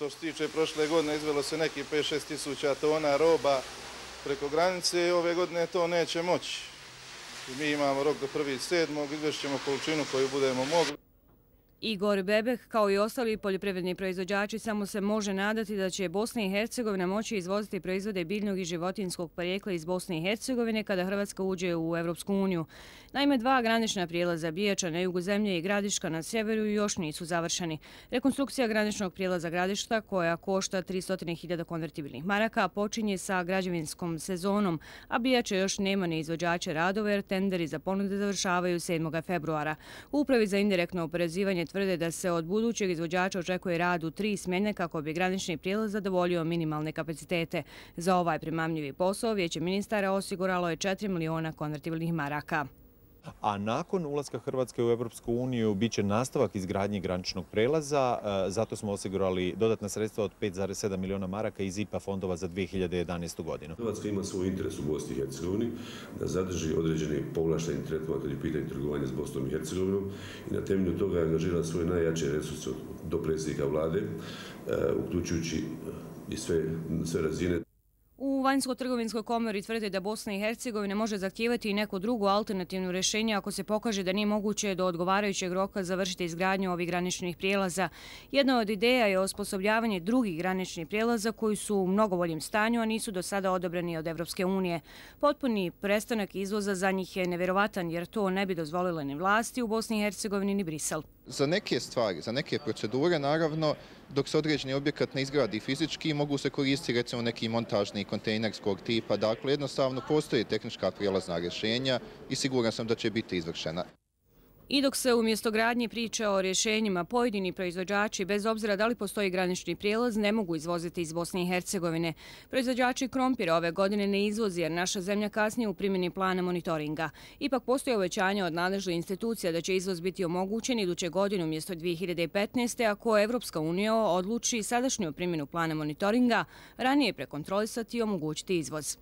što se tiče prošle godine izvelo se neki 5-6 tisuća tona roba preko granice i ove godine to neće moći. Mi imamo rok do 1.7. izvešćemo količinu koju budemo mogli. Igor Bebek, kao i ostali poljoprivredni proizvođači, samo se može nadati da će Bosna i Hercegovina moći izvoziti proizvode biljnog i životinjskog porijekla iz Bosne i Hercegovine kada Hrvatska uđe u Evropsku uniju. Naime, 2 granična prijelaza Bijača na jugu zemlje i Gradiška na sjeveru još nisu završeni. Rekonstrukcija graničnog prijelaza Gradišta, koja košta 300.000 konvertibilnih maraka, počinje sa građevinskom sezonom, a Bijača još nema ni izvođače radova jer tenderi za ponude završavaju 7. februara. U Upravi za indirektno oporezivanje tvrde da se od budućeg izvođača očekuje rad u 3 smjene kako bi granični prijelaz zadovoljio minimalne kapacitete. Za ovaj primamljivi posao Vijeće ministara osiguralo je 4 miliona konvertibilnih maraka. A nakon ulaska Hrvatske u Europsku uniju bit će nastavak izgradnje graničnog prelaza. Zato smo osigurali dodatna sredstva od 5,7 miliona maraka iz IPA fondova za 2011. godinu. Hrvatska ima svoj interes u Bosni i Hercegovini da zadrži određeni povlašteni tretman kad je pitanje trgovanja s Bosnom i Hercegovinom i na temelju toga je angažirala svoje najjače resurse do predsjednika vlade, uključujući i sve razine. U Vanjsko-trgovinskoj komori tvrde da Bosna i Hercegovina može zahtijevati i neko drugo alternativno rješenje ako se pokaže da nije moguće do odgovarajućeg roka završiti izgradnju ovih graničnih prijelaza. Jedna od ideja je osposobljavanje drugih graničnih prijelaza koji su u mnogo boljem stanju, a nisu do sada odobreni od Evropske unije. Potpuni prestanak izvoza za njih je nevjerovatan jer to ne bi dozvolile ni vlasti u Bosni i Hercegovini ni Brisel. Za neke stvari, za neke procedure, naravno, dok se određeni objekat ne izgradi fizički, mogu se koristiti recimo neki montažni kontejnerskog tipa. Dakle, jednostavno postoje tehnička prijelazna rješenja i siguran sam da će biti izvršena. I dok se umjesto gradnje priča o rješenjima, pojedini proizvođači, bez obzira da li postoji granični prijelaz, ne mogu izvoziti iz Bosne i Hercegovine. Proizvođači krompira ove godine ne izvozi jer naša zemlja kasnije u primjeni plana monitoringa. Ipak postoje obećanja od nadležnih institucija da će izvoz biti omogućen iduće godine umjesto 2015. ako Evropska unija odluči sadašnju primjenu plana monitoringa ranije prekontrolisati i omogućiti izvoz.